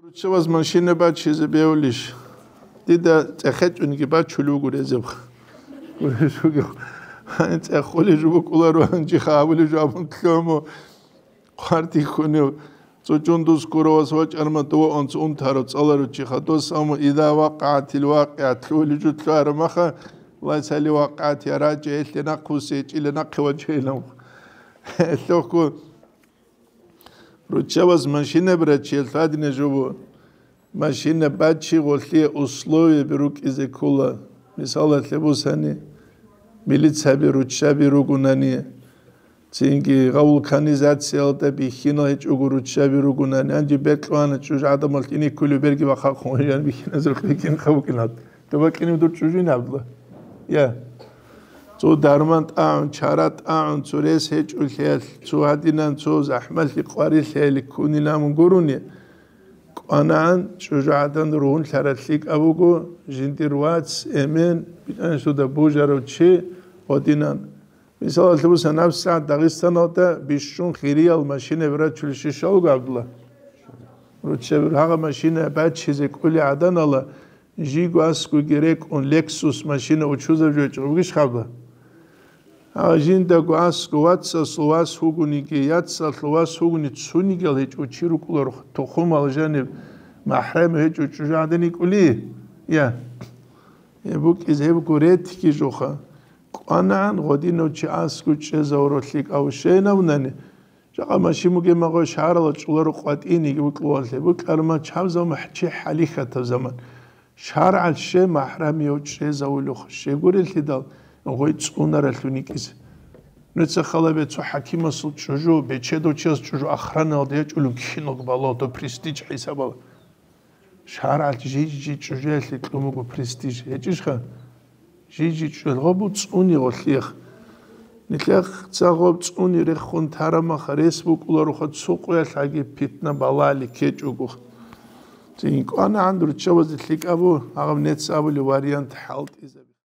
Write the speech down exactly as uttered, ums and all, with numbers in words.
Руччабаз машина бачизе бевлищ? Дида цӀехечӀунги бачулев гурезеб. Гурезуги. ЦӀехулев жо букӀуларо, гьанжеха абулев жо абун лъому. Хъвартихьунев цӀучӀун дус куравас вачӀарма дова онц унтаро цӀаларучи хадос, амма ида вакъгӀатил вакъгӀат лъугьулев жо лъугьараб маха, лайсали вакъгӀат я рачӀа, гьелъе нахъвуссечӀила нахъе вачейилан. Гьелъухъго Руччабаз машина брачиялъ гьадина жо бу. Машина бачи гъолъие условияби рукӀизе ккола. Мисалалъе бусани, милицаби руччаби ругунани, цинги гъав вулканизациялда бихьинал гьечӀого руччаби ругунани, гьанже бекьвана чӀужу гӀадамал тӀиниккулев берги бахъахъун вачан бихьиназул кьикин хъавукӀинал. Доба кьинив дур чӀужуйин гьабла? Я. Цо дарман тӀагӀун, чара тӀагӀун, цо рес гьечӀолъиялъ, цо гьадинан, цо захӀмалъи къварилъиялъ ккунилан мун гурони, кӀванагӀан чӀужугӀадан ругьунлъараб лъикӀаб буго, жиндир вац, эмен, бичӀанщуда бужарав чи гьадинан. Мисалалъе буса, набсагӀат Дагъистаналда бищун хириял машина бирачулищ ишалго гьабла? Руччаби гьагъа машина бачизе кӀули гӀаданала, жиго аскӀоги рекӀун, Lexus машина учузаб жо гьечӀо бугищ хабла? Гьагъа жиндаго аскӀо вацасул вас вугониги, яцалъул вас вугони цунигиял гьечӀо чи рукӀуларо тухумал жаниб, махӀрам гьечӀо чӀужугӀадан йикӀули? Я. Гьеб букӀизе гьебго ретги жоха. КӀванагӀан гъодинав чи аскӀо чӀезавуралъи кӀавшейнавнани, жакъа машин бугеб магъо шагьаралда чӀоларо къватӀиниги букьулалъе, букьарма чаб заман чи хӀалихьатаб заман. ШаргӀалъ ще махӀрамияв чӀезавулев щегурелъидал гъой цӀунаралъун йикӀизе. Нуца халабе цо хӀакимасул чӀужу, бечедав чияс чӀужу охраналда ячӀулев киналго балагьун престиж хӀисабала. ШаргӀалъ жий-жий чӀужуялъе кьун буго престиж. ГьечӀищха? Жий-жий чӀужуялъ гъоб цӀуни гъолъиех. Нилъех ца гъоб цӀуни рехун тарамаха, рес букӀулароха цо къоялъ гьаги питна балагьали ккечӀого. Цин кӀванагӀан руччабазе лъикӀабу, гьагъаб нец абулев вариант хӀалтӀизабе.